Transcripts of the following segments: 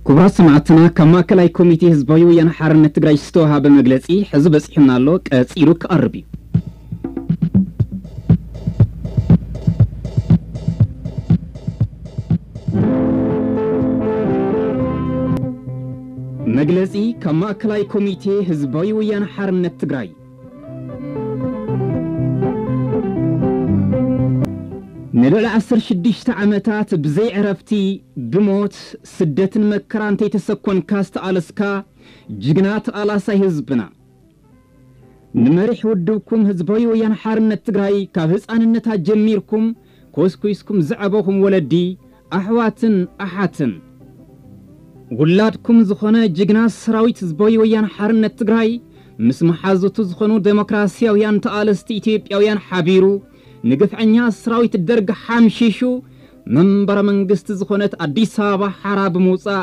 ክቡራት ሰማዕትና፣ ካብ ማእከላይ ኮሚቴ ህዝባዊ ወያነ ሓርነት ትግራይ ዝተወሃበ መግለጺ ሕዚ በጺሑና ኣሎ፣ ቀጺሉ ክቐርብ እዩ። መግለጺ ካብ ማእከላይ ኮሚቴ ህዝባዊ ወያነ ሓርነት ትግራይ። ንልዕሊ ዓሰርተ ሽዱሽተ ዓመታት ብዘይ ዕረፍቲ ብሞት፣ ስደትን መከራን እንተይተሰኮንካ ዝተቓለስካ ጅግና ተቓላሳይ ህዝብና። ንመሪሕ ውድብኩም ህዝባዊ ወያነ ሓርነት ትግራይ ካብ ህፃንነታ ጀሚርኩም ኮስኩስኩም ዘዕበኹም ወለዲ፣ ኣሕዋትን ኣሓትን። ውላድኩም ዝኾነ ጅግና ሰራዊት ህዝባዊ ወያነ ሓርነት ትግራይ ምስ መሓዙቱ ዝኾኑ ዴሞክራሲያውያን ተቓለስቲ ኢትዮጵያውያን ሓቢሩ ንግፍዐኛ ሰራዊት ደርግ ሓምሺሹ መንበረ መንግስቲ ዝኾነት ኣዲስ ኣበባ ሓራ ብምውፃእ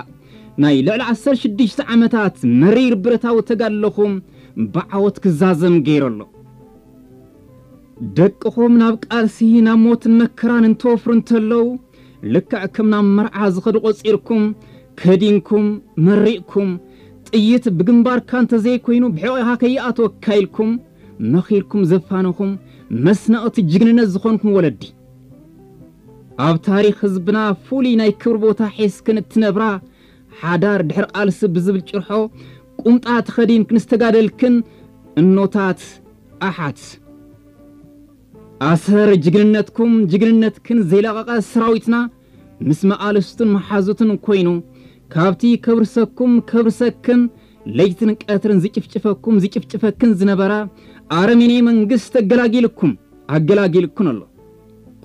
ናይ ልዕሊ ዓሰርተ ሽዱሽተ ዓመታት መሪር ብረታዊ ተጋድሎኹም ብዓወት ክዛዘም ገይሩ ኣሎ። ደቅኹም ናብ ቃልሲ ናብ ሞትን መከራን እንትወፍሩ እንተለዉ ልክዕ ከም ናብ መርዓ ዝኸዱ ቆፂርኩም ከዲንኩም መሪቕኩም ጥይት ብግንባርካ እንተዘይኮይኑ ብሕቖኻ ከይኣትወካ ኢልኩም መኺርኩም ዘፋነኹም መስነቕቲ ጅግንነት ዝኾንኩም ወለዲ ኣብ ታሪኽ ህዝብና ፍሉይ ናይ ክብሪ ቦታ ሒዝክን እትነብራ ሓዳር ድሕሪ ቃልሲ ብዝብል ጭርሖ ቁምጣ ተኸዲንክን ዝተጋደልክን እኖታት ኣሓት ኣሰር ጅግንነትኩም ጅግንነትክን ዘይለቐቐ ሰራዊትና ምስ መቓልስቱን መሓዙትን ኮይኑ ካብቲ ከብርሰኩም ከብርሰክን ለይትን ቀትርን ዝጭፍጭፈኩም ዝጭፍጭፈክን ዝነበረ ኣረሜኔ መንግስት ተገላጊልኩም ኣገላጊልኩን ኣሎ።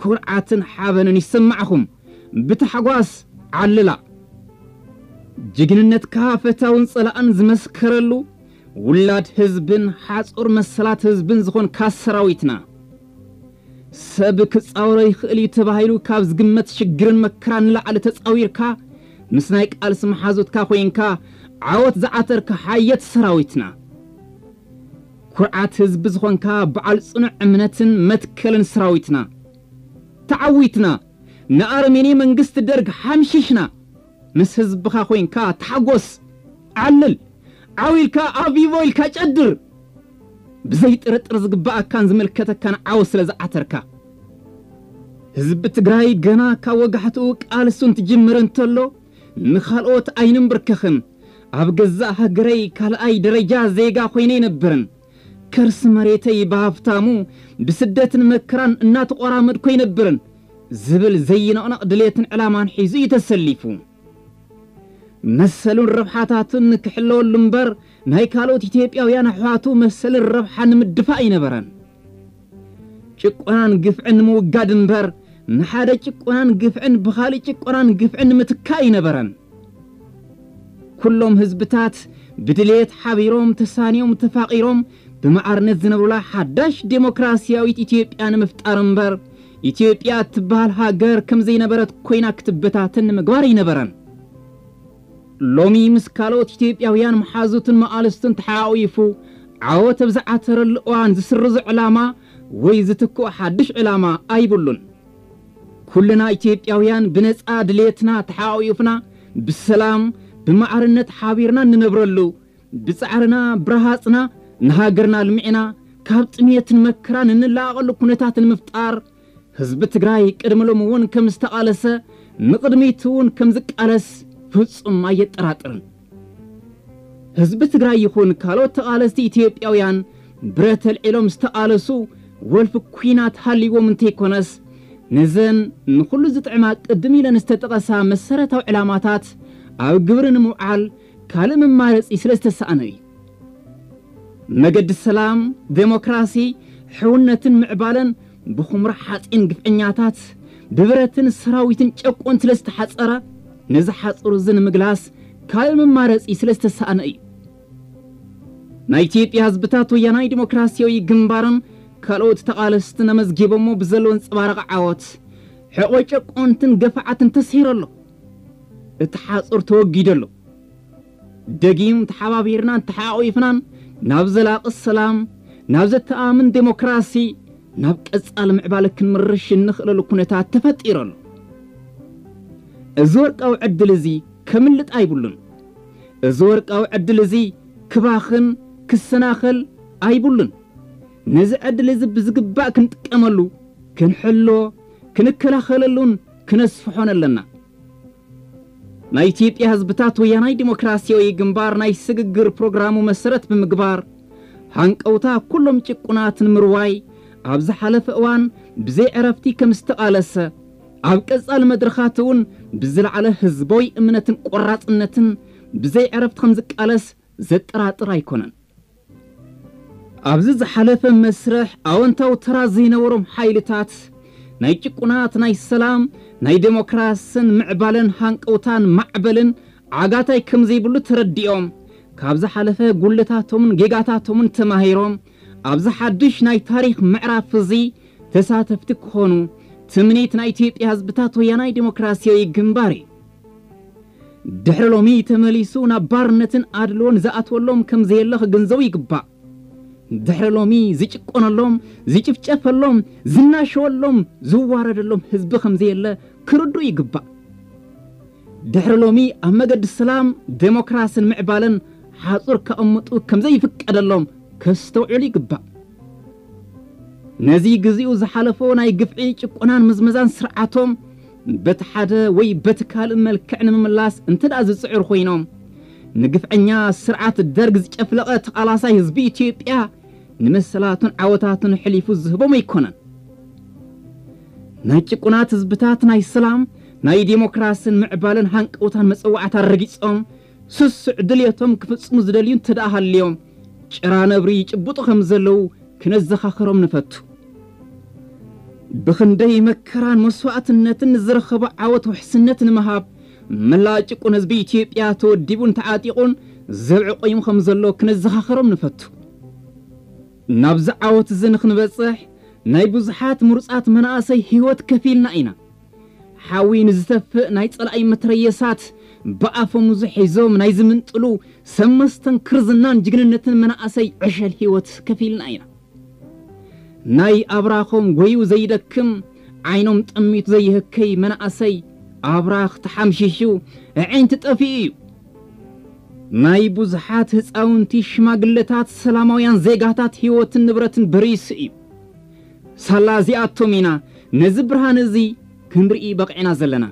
ኩርዓትን ሓበንን ይሰማዕኹም። ብታሕጓስ ዓልላ። ጅግንነትካ ፈታውን ጸላእን ዝመስከረሉ ውላድ ህዝብን ሓጹር መሰላት ህዝብን ዝኾንካ ሰራዊትና። ሰብ ክጻወሮ ይኽእል እዩ ተባሂሉ ካብ ዝግመት ሽግርን መከራን ንላዕሊ ተጻዊርካ ምስ ናይ ቃልሲ መሓዙትካ ኮይንካ ዓወት ዝዓተርካ ሓየት ሰራዊትና። ኩርዓት ህዝቢ ዝኾንካ በዓል ጽኑዕ እምነትን መትከልን ሰራዊትና። ተዓዊትና ንኣረሜኔ መንግስቲ ደርግ ሓምሺሽና። ምስ ህዝብኻ ኮይንካ ተሓጎስ፣ ዓልል፣ ዓው ኢልካ ኣቪቮ ኢልካ ጨድር። ብዘይ ጥርጥር ዝግባኣካን ዝምልከተካን ዓወት ስለ ዝዓተርካ። ህዝቢ ትግራይ ገና ካብ ወጋሕትኡ ቃልሱ እንትጅምር እንተሎ ንኻልኦት ኣይንምብርከኽን። ኣብ ገዛእ ሃገረይ ካልኣይ ደረጃ ዜጋ ኮይነ ይነብርን። ከርሲ መሬተይ ብሃፍታሙ ብስደትን መከራን እናተቆራመድኮ ይነብርን ዝብል ዘይነቕነቕ ድሌትን ዕላማን ሒዙ እዩ ተሰሊፉ። መሰሉን ረብሓታቱን ክሕለወሉ እምበር ናይ ካልኦት ኢትዮጵያውያን ኣሕዋቱ መሰልን ረብሓን ንምድፋእ ኣይነበረን። ጭቆናን ግፍዕን ንምውጋድ እምበር ንሓደ ጭቆናን ግፍዕን ብኻልእ ጭቆናን ግፍዕን ንምትካእ ኣይነበረን። ኩሎም ህዝብታት ብድሌት ሓቢሮም ተሳንዮም ተፋቒሮም ብማዕርነት ዝነብሩላ ሓዳሽ ዴሞክራሲያዊት ኢትዮጵያ ንምፍጣር እምበር ኢትዮጵያ እትበሃል ሃገር ከም ዘይነበረት ኮይና ክትበታተን ንምግባር ኣይነበረን። ሎሚ ምስ ካልኦት ኢትዮጵያውያን መሓዙትን መቓልስቱን ተሓቋቒፉ ዓወት ኣብ ዝዓተረሉ እዋን ዝስርዞ ዕላማ ወይ ዝትክኦ ሓድሽ ዕላማ ኣይብሉን። ኩልና ኢትዮጵያውያን ብነጻ ድሌትና ተሓቋቒፍና ብሰላም ብማዕርነት ሓቢርና እንነብረሉ ብጻዕርና ብረሃጽና ንሃገርና ኣልሚዕና ካብ ጥሜትን መከራን እንላቐቐሉ ኩነታት ንምፍጣር ህዝቢ ትግራይ ቅድሚ ሎሚ እውን ከም ዝተቓለሰ ንቕድሚት እውን ከም ዝቃለስ ፍጹም ኣየጠራጥርን። ህዝቢ ትግራይ ይኹን ካልኦት ተቓለስቲ ኢትዮጵያውያን ብረት ኣልዒሎም ዝተቓለሱ ወልፊ ኲናት ሃልይዎም እንተይኮነስ ነዘን ንኹሉ ዝጥዕማ ቅድም ኢለን ዝተጠቐሳ መሰረታዊ ዕላማታት ኣብ ግብሪ ንምውዓል ካልእ መማረፂ ስለ ዝተሰኣነ እዩ። መገዲ ሰላም፣ ዴሞክራሲ፣ ሕውነትን ምዕባለን ብኹምራ ሓፂን ግፍዐኛታት ብብረትን ሰራዊትን ጨቆን ስለ ዝተሓፀረ ነዚ ሓፁር እዚ ንምግላስ ካልእ መማረፂ ስለ ዝተሰኣነ እዩ። ናይ ኢትዮጵያ ህዝብታት ወያናይ ዲሞክራሲያዊ ግንባርን ካልኦት ተቓለስትን ኣመዝጊቦሞ ብዘለዎ ኣንፀባራቒ ዓወት ሕቖ ጨቆንትን ገፋዓትን ተስሂሩ ኣሎ። እቲ ሓፁር ተወጊዱ ኣሎ። ደጊም ተሓባቢርናን ተሓቋቒፍናን ናብ ዘላቒ ሰላም፣ ናብ ዘተኣማምን ዴሞክራሲ፣ ናብ ቀጻሊ ምዕባለ ክንምርሽ እንኽእለሉ ኩነታት ተፈጢሩ ኣሎ። እዚ ወርቃዊ ዕድል እዚ ከምልጥ ኣይብሉን። እዚ ወርቃዊ ዕድል እዚ ክባኽን ክሰናኸል ኣይብሉን። ነዚ ዕድል እዚ ብዝግባእ ክንጥቀመሉ፣ ክንሕሎ፣ ክንከላኸለሉን ክነስፍሖን ኣለና። ናይ ኢትዮጵያ ህዝብታት ወያናይ ዲሞክራሲያዊ ግንባር ናይ ስግግር ፕሮግራሙ መሰረት ብምግባር፣ ሃንቀውታ ኩሎም ጭቁናት ንምርዋይ ኣብ ዝሓለፈ እዋን ብዘይ ዕረፍቲ ከም ዝተቓለሰ፣ ኣብ ቀጻሊ መድረኻት እውን ብዝለዓለ ህዝባዊ እምነትን ቆራጽነትን ብዘይ ዕረፍቲ ከም ዝቃለስ ዘጠራጥር ኣይኮነን። ኣብዚ ዝሓለፈ መስርሕ ኣወንታዊ ተራ ዘይነበሮም ሓይልታት፣ ናይ ጭቁናት ናይ ሰላም፣ ናይ ዴሞክራስን ምዕባለን ሃንቀውታን ማዕበልን ዓጋታይ ከም ዘይብሉ ተረዲኦም፣ ካብ ዝሓለፈ ጉለታቶምን ጌጋታቶምን ተማሂሮም፣ ኣብዚ ሓድሽ ናይ ታሪኽ ምዕራፍ እዚ ተሳተፍቲ ክኾኑ ትምኒት ናይ ኢትዮጵያ ህዝብታት ወያናይ ዴሞክራሲያዊ ግንባር እዩ። ድሕሪ ሎሚ ተመሊሱ ናብ ባርነትን ኣድልዎን ዝኣትወሎም ከም ዘየለ ክግንዘቡ ይግባእ። ድሕሪ ሎሚ ዝጭቆነሎም፣ ዝጭፍጨፈሎም፣ ዝናሸወሎም፣ ዝዋረደሎም ህዝቢ ከም ዘየለ ክርድኡ ይግባእ። ድሕሪ ሎሚ ኣብ መገዲ ሰላም፣ ዴሞክራስን ምዕባለን ሓጹር ከቐምጡ ከም ዘይፍቀደሎም ከስተውዕሉ ይግባእ። ነዚ ግዚኡ ዝሓለፎ ናይ ግፍዒ ጭቆናን ምዝመዛን ስርዓቶም በቲ ሓደ ወይ በቲ ካልእ መልክዕ ንምምላስ እንተ ደኣ ዝጽዕሩ ኮይኖም፣ ንግፍዐኛ ስርዓት ደርግ ዝጨፍለቐ ተቓላሳይ ህዝቢ ኢትዮጵያ ንመሰላቱን ዓወታቱን ሕሊፉ ዝህቦም ኣይኮነን። ናይ ጭቁናት ህዝብታት ናይ ሰላም፣ ናይ ዴሞክራስን ምዕባለን ሃንቀውታን መጸዋዕታ ረጊጾም፣ ስሱዕ ድልየቶም ክፍጽሙ ዝደልዩ እንተ ደኣ ሃልዮም፣ ጭራ ነብሪ ይጭብጡ ከም ዘለዉ ክነዘኻኽሮም ንፈቱ። ብኽንደይ መከራን መስዋእትነትን ንዝረኸቦ ዓወት ውሕስነት ንምሃብ፣ መላእ ጭቁን ህዝቢ ኢትዮጵያ ተወዲቡን ተዓጢቑን ዘብዒ ቆይሙ ከም ዘሎ ክነዘኻኽሮም ንፈቱ። ናብዚ ዓወት እዚ ንኽንበጽሕ፣ ናይ ብዙሓት ምሩጻት መናእሰይ ህይወት ከፊልና ኢና። ሓዊ ንዝተፍእ ናይ ጸላኢ መትረየሳት ብኣፈሙዙ ሒዞም ናይ ዝምንጥሉ ሰብ መስተንክር ዝናን ጅግንነትን መናእሰይ ዕሸል ህይወት ከፊልና ኢና። ናይ ኣብራኾም ጎዩ ዘይደክም፣ ዓይኖም ጠሚቱ ዘይህከይ መናእሰይ ኣብራኽ ተሓምሺሹ ኣዒንቲ ጠፊኡ እዩ። ናይ ብዙሓት ህፃውንቲ፣ ሽማግለታት፣ ሰላማውያን ዜጋታት ህይወትን ንብረትን በሪሱ እዩ። ሳላ እዚኣቶም ኢና ነዚ ብርሃን እዚ ክንርኢ በቒዕና ዘለና።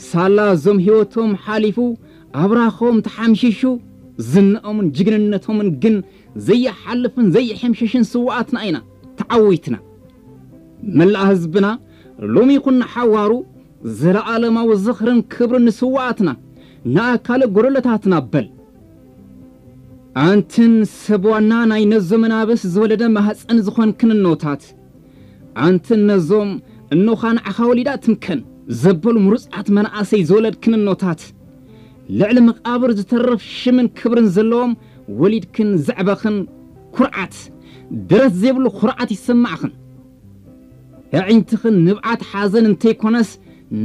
ሳላ እዞም ህይወቶም ሓሊፉ ኣብራኾም ተሓምሺሹ ዝናኦምን ጅግንነቶምን ግን ዘይሓልፍን ዘይሕምሸሽን ስውኣትና ኢና ተዓዊትና። መላእ ህዝብና ሎሚ ይኹን ንሓዋሩ ዘለኣለማዊ ዝኽርን ክብርን ንስውኣትና፣ ንኣካለ ጎደሎታትና በል። ኣንትን ሰብ ዋና ናይ ነዞም መናብስ ዝወለደ ማህፀን ዝኾንክን እኖታት፣ ኣንትን ነዞም እኖኻ ንዓኻ ወሊዳ ትምከን ዘበሉ ምሩፃት መናእሰይ ዝወለድክን እኖታት፣ ልዕሊ መቓብር ዝተርፍ ሽምን ክብርን ዘለዎም ወሊድክን ዘዕበኽን ኩርዓት፣ ደረት ዘይብሉ ኩርዓት ይሰማዕኽን። ኣዒንትኽን ንብዓት ሓዘን እንተይኮነስ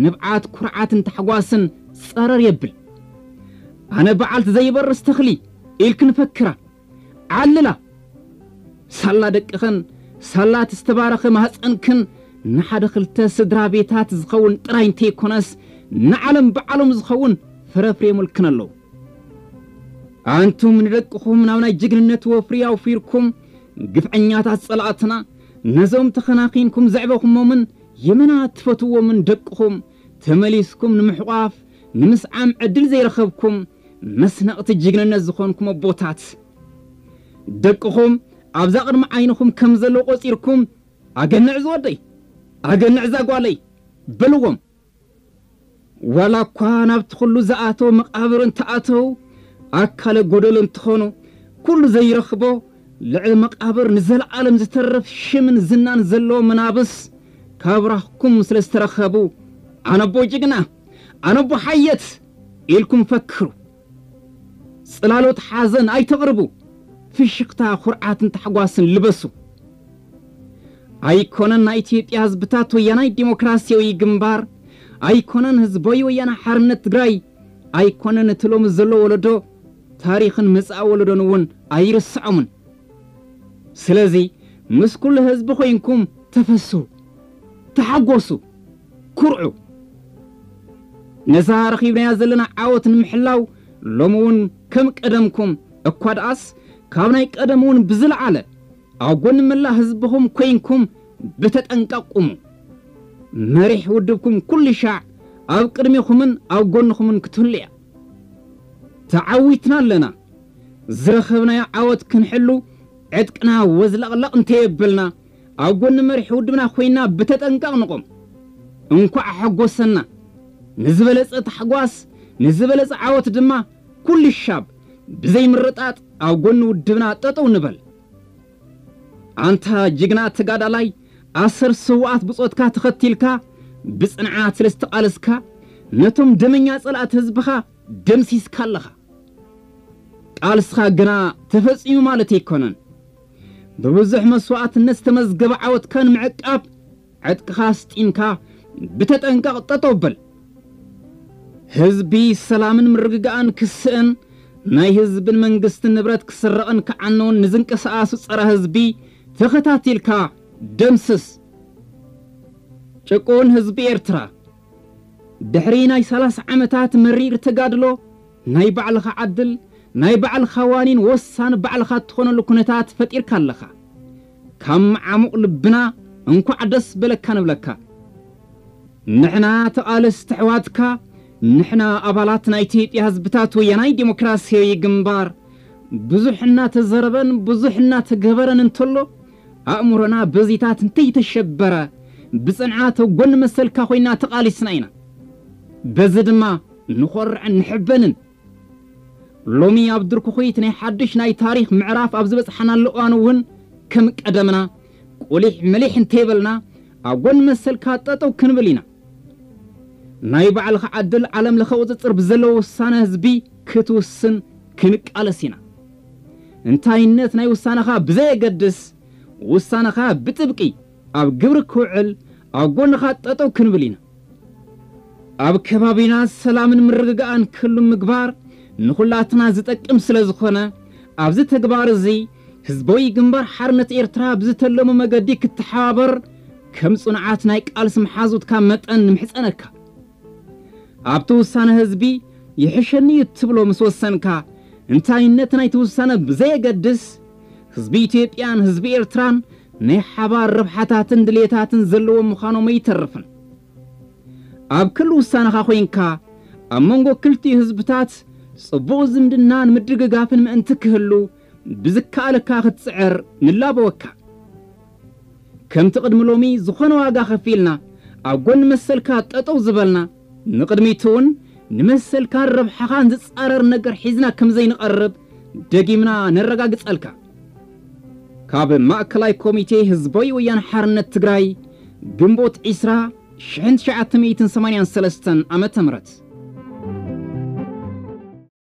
ንብዓት ኩርዓትን ታሕጓስን ጸረር የብል። ኣነ በዓልቲ ዘይበርስ ተኽሊ ኢልክን ፈክራ፣ ዓልላ። ሳላ ደቅኽን ሳላ እቲ ዝተባረኸ ማህፀንክን ንሓደ ክልተ ስድራ ቤታት ዝኸውን ጥራይ እንተይኮነስ ንዓለም ባዕሎም ዝኸውን ፍረፍሬሙልክን ኣለዉ። ኣንቱም ንደቅኹም ናብ ናይ ጅግንነት ወፍሪ ኣውፊርኩም ግፍዐኛታት ጸላእትና ነዞም ተኸናኺንኩም ዘዕበኹሞምን የመና ትፈትዎምን ደቅኹም ተመሊስኩም ንምሕቋፍ ንምስዓም ዕድል ዘይረኸብኩም መስነቕቲ ጅግንነት ዝኾንኩም ኣቦታት፣ ደቅኹም ኣብዛ ቅድሚ ዓይንኹም ከም ዘለዉ ቆጺርኩም፣ "ኣገንዕ ዝወደይ፣ ኣገንዕ እዛ ጓለይ" በልዎም። ዋላ እኳ ናብቲ ኩሉ ዝኣተው መቓብር እንተኣተው ኣካለ ጎደሎ እንትኾኑ፣ ኩሉ ዘይረኽቦ ልዕሊ መቓብር ንዘለኣለም ዝተርፍ ሽምን ዝናን ዘለዎ መናብስ ካብ ራኽኩም ስለ ዝተረኸቡ፣ "ኣነቦ ጅግና፣ ኣነቦ ሓየት" ኢልኩም ፈክሩ። ጽላሎት ሓዘን ኣይተቕርቡ። ፍሽኽታ፣ ኩርዓትን ታሕጓስን ልበሱ። ኣይኮነን ናይ ኢትዮጵያ ህዝብታት ወያናይ ዲሞክራሲያዊ ግንባር፣ ኣይኮነን ህዝባዊ ወያነ ሓርነት ትግራይ፣ ኣይኮነን እቲ ሎሚ ዘሎ ወለዶ፣ ታሪኽን መጻኢ ወለዶን እውን ኣይርስዖምን። ስለዚ ምስ ኩሉ ህዝቢ ኮይንኩም ተፈስሁ፣ ተሓጎሱ፣ ኩርዑ። ነዛ ረኺብናያ ዘለና ዓወት ንምሕላው ሎሚ እውን ከም ቀደምኩም፣ እኳ ደኣስ ካብ ናይ ቀደም እውን ብዝለዓለ ኣብ ጎኒ መላእ ህዝብኹም ኮይንኩም ብተጠንቀቕ ቁሙ። መሪሕ ውድብኩም ኩሉ ሻዕ ኣብ ቅድሚኹምን ኣብ ጎንኹምን ክትህሉ እያ። ተዓዊትና ኣለና። ዝረኸብናዮ ዓወት ክንሕሉ ዕጥቅና ወዝለቕለቕ እንተየበልና፣ ኣብ ጎኒ መሪሕ ውድብና ኮይና ብተጠንቀቕ ንቖም። እንኳዕ ሓጎሰና። ንዝበለጸ ታሕጓስ፣ ንዝበለጸ ዓወት ድማ ኩሉ ሻብ ብዘይ ምርጣጥ ኣብ ጎኒ ውድብና ጠጠው ንበል። ኣንታ ጅግና ተጋዳላይ፣ ኣሰር ስውኣት ብጾትካ ተኸቲልካ ብጽንዓት ስለ ዝተቓለስካ፣ ነቶም ደመኛ ጸላእቲ ህዝብኻ ደምሲስካ ኣለኻ። ቃልስኻ ግና ተፈጺሙ ማለት ኣይኮነን። ብብዙሕ መስዋእትነት ዝተመዝገበ ዓወትካ ንምዕቃብ ዕጥቅኻ ኣስጢምካ ብተጠንቀቕ ጠጠው በል። ህዝቢ ሰላምን ምርግጋእን ክስእን፣ ናይ ህዝብን መንግስትን ንብረት ክስረቕን ክዓነውን ንዝንቀሳቐሱ ጸረ ህዝቢ ተኸታቲልካ ደምስስ። ጭቁን ህዝቢ ኤርትራ፣ ድሕሪ ናይ ሰላሳ ዓመታት መሪር ተጋድሎ፣ ናይ ባዕልኻ ዓድል፣ ናይ ባዕልኻ ዋኒን ወሳኒ ባዕልኻ እትኾነሉ ኩነታት ፈጢርካ ኣለኻ። ካብ መዓሙቕ ልብና እንኳዕ ደስ በለካ ንብለካ። ንሕና ተቓለስቲ ኣሕዋትካ፣ ንሕና ኣባላት ናይ ኢትዮጵያ ህዝብታት ወያናይ ዲሞክራሲያዊ ግንባር፣ ብዙሕ እናተዘረበን ብዙሕ እናተገበረን እንተሎ፣ ኣእምሮና በዚታት እንተይተሸበረ፣ ብጽንዓት ኣብ ጎኒ መሰልካ ኮይና ተቓሊስና ኢና። በዚ ድማ ንኾርዕን ንሕበንን። ሎሚ ኣብ ድርኩኺት ናይ ሓድሽ ናይ ታሪኽ ምዕራፍ ኣብ ዝበጽሓናሉ እዋን እውን ከም ቀደምና ቁሊሕ ምሊሕ እንተይበልና ኣብ ጎኒ መሰልካ ጠጠው ክንብል ኢና። ናይ ባዕልኻ ዕድል ዓለም ለኸ ቁጽጽር ብዘለዎ ውሳነ ህዝቢ ክትውስን ክንቃለስ ኢና። እንታይነት ናይ ውሳነኻ ብዘየገድስ ውሳነኻ ብጥብቂ ኣብ ግብሪ ክውዕል ኣብ ጎንኻ ጠጠው ክንብል ኢና። ኣብ ከባቢና ሰላምን ምርግጋእን ክህሉ ምግባር ንኹላትና ዝጠቅም ስለ ዝኾነ፣ ኣብዚ ተግባር እዚ ህዝባዊ ግንባር ሓርነት ኤርትራ ብዝተለሞ መገዲ ክትተሓባበር ከም ጽኑዓት ናይ ቃልሲ መሓዙትካ መጠን ንምሕጸነካ። ኣብቲ ውሳነ ህዝቢ ይሕሸኒ እዩ እትብሎ ምስ ወሰንካ፣ እንታይነት ናይቲ ውሳነ ብዘየገድስ፣ ህዝቢ ኢትዮጵያን ህዝቢ ኤርትራን ናይ ሓባር ረብሓታትን ድልየታትን ዘለዎም ምዃኖም ኣይተርፍን። ኣብ ክሊ ውሳነኻ ኮይንካ፣ ኣብ መንጎ ክልቲኡ ህዝብታት ጽቡቕ ዝምድናን ምድግጋፍን ምእንቲ ክህሉ ብዝከኣለካ ክትጽዕር ንላበወካ። ከምቲ ቅድሚ ሎሚ ዝኾነ ዋጋ ከፊልና ኣብ ጎኒ መሰልካ ጠጠው ዝበልና፣ ንቕድሚት እውን ንመሰልካን ረብሓኻን ዝጻረር ነገር ሒዝና ከም ዘይንቐርብ ደጊምና ነረጋግጸልካ። ካብ ማእከላይ ኮሚቴ ህዝባዊ ወያነ ሓርነት ትግራይ፣ ግንቦት ዕስራ፣ ሽሕን ትሽዓተ ሚእትን ሰማንያን ሰለስተን ዓመተ ምህረት።